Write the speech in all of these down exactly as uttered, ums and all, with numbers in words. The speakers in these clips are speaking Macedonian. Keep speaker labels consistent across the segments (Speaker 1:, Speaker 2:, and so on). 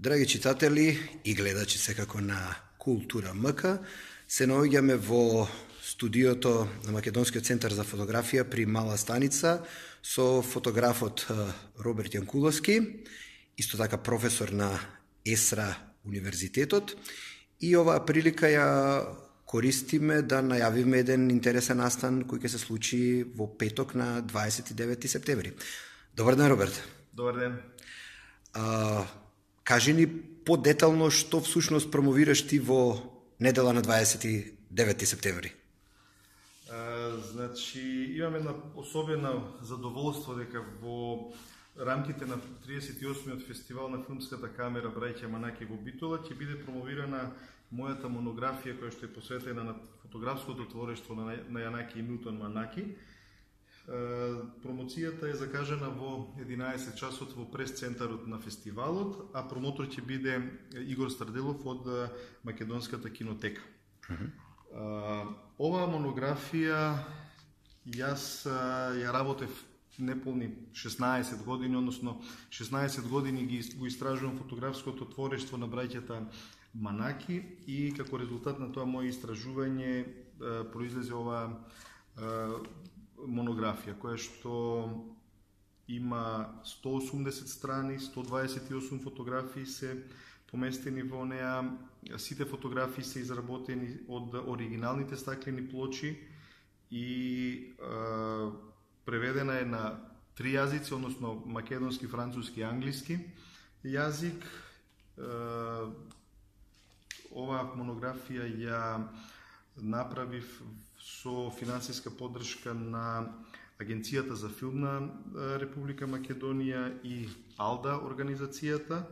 Speaker 1: Драги читатели и гледачи секако на Култура МК, се наоѓаме во студиото на Македонскиот центар за фотографија при Мала Станица со фотографот Роберт Јанкуловски, исто така професор на ЕСРА Универзитетот, и оваа прилика ја користиме да најавиме еден интересен настан кој ќе се случи во петок на дваесет и девети септември. Добар ден, Роберт.
Speaker 2: Добар ден.
Speaker 1: А, кажи ни подетално што всушност промовираш ти во недела на дваесет и девети септември.
Speaker 2: А, значи, имаме една особена задоволство дека во рамките на триесет и осмиот фестивал на филмската камера Браќа Манаки во Битола ќе биде промовирана мојата монографија која што е посветена на фотографското творештво на, на Јанаки и Милтон Манаки. Промоцијата е закажана во единаесет часот во прес-центарот на фестивалот, а промотор ќе биде Игор Старделов од Македонската кинотека. Uh-huh. Оваа монографија јас ја работев неполни шеснаесет години, односно шеснаесет години ги го истражувам фотографското творештво на браќата Манаки и како резултат на тоа моје истражување произлезе оваа монографија, која што има сто осумдесет страни, сто дваесет и осум фотографии се поместени во неа. Сите фотографии се изработени од оригиналните стаклени плочи и е, преведена е на три јазици, односно македонски, француски и англиски јазик. Е, оваа монографија ја направив со финансиска поддршка на Агенцијата за филм на Република Македонија и АЛДА организацијата,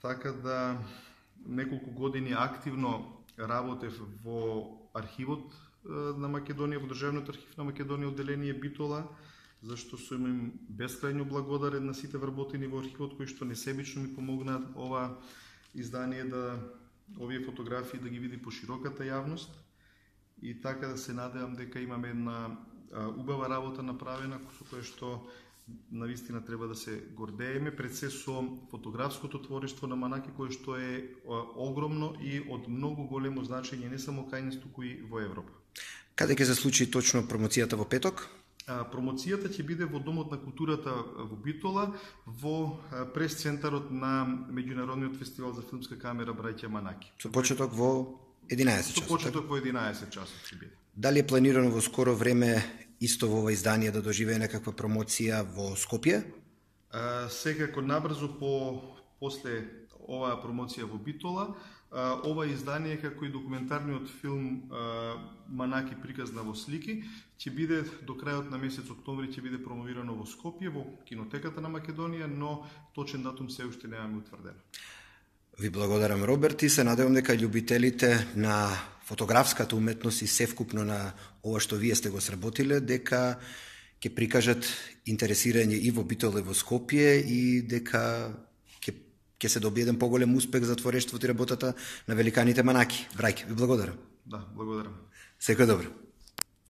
Speaker 2: така да неколку години активно работев во архивот на Македонија, во Државниот архив на Македонија, одделение Битола, зашто сум им бескрајно благодарен на сите вработени во архивот кои што несебично ми помогнаат ова издание да овие фотографии да ги види по широката јавност. И така да се надевам дека имаме една а, убава работа направена со која што навистина треба да се гордееме, пред се со фотографското творештво на Манаки, кое што е а, огромно и од многу големо значење не само кај нас, туку и во Европа.
Speaker 1: Каде ќе се случи точно промоцијата во петок?
Speaker 2: А, промоцијата ќе биде во Домот на културата во Битола, во а, прес-центарот на Меѓународниот фестивал за филмска камера Браќа Манаки.
Speaker 1: Со почеток во единаесет часот.
Speaker 2: Со почеток во единаесет часот ќе биде.
Speaker 1: Дали е планирано во скоро време исто во ова издание да доживее некаква промоција во Скопје?
Speaker 2: А, секако набрзо по после оваа промоција во Битола, а, ова издание како и документарниот филм а, Манаки приказна во слики ќе биде до крајот на месец октомври ќе биде промовирано во Скопје во кинотеката на Македонија, но точен датум се уште немаме утврдено.
Speaker 1: Ви благодарам, Роберт, и се надевам дека љубителите на фотографската уметност и севкупно на ова што вие сте го сработиле, дека ќе прикажат интересирање и во Битола и во Скопје и дека ќе ќе се добие еден поголем успех за творештвото и работата на великаните Манаки. Браќа, ви благодарам.
Speaker 2: Да, благодарам.
Speaker 1: Секој добро.